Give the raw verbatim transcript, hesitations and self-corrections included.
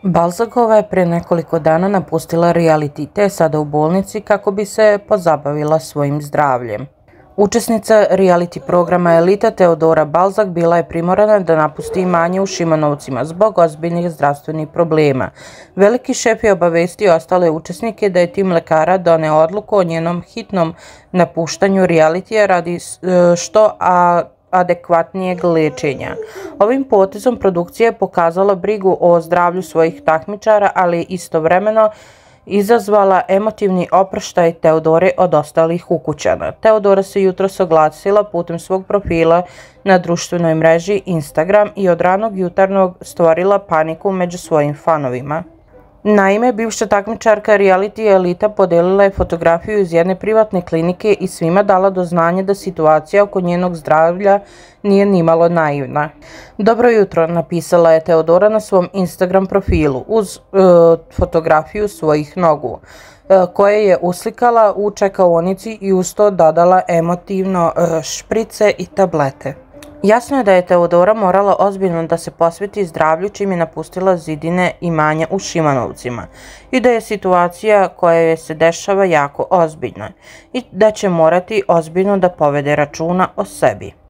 Balzakova je pre nekoliko dana napustila reality te je sada u bolnici kako bi se pozabavila svojim zdravljem. Učesnica reality programa Elita Teodora Balzak bila je primorana da napusti imanje u Šimanovcima zbog ozbiljnih zdravstvenih problema. Veliki šef je obavestio ostale učesnike da je tim lekara doneo odluku o njenom hitnom napuštanju realitija radi što a adekvatnijeg lečenja. Ovim potezom produkcija je pokazala brigu o zdravlju svojih takmičara, ali istovremeno izazvala emotivni oproštaj Teodore od ostalih ukućana. Teodora se jutros oglasila putem svog profila na društvenoj mreži Instagram i od ranog jutarnjeg stvorila paniku među svojim fanovima. Naime, bivša takmičarka reality Elita podelila je fotografiju iz jedne privatne klinike i svima dala do znanja da situacija oko njenog zdravlja nije nimalo naivna. Dobro jutro, napisala je Teodora na svom Instagram profilu uz e, fotografiju svojih nogu, e, koje je uslikala u čekaonici i uz to dodala emotivno e, šprice i tablete. Jasno je da je Teodora morala ozbiljno da se posveti zdravlju čim je napustila zidine imanja u Šimanovcima i da je situacija koja joj se dešava jako ozbiljna i da će morati ozbiljno da povede računa o sebi.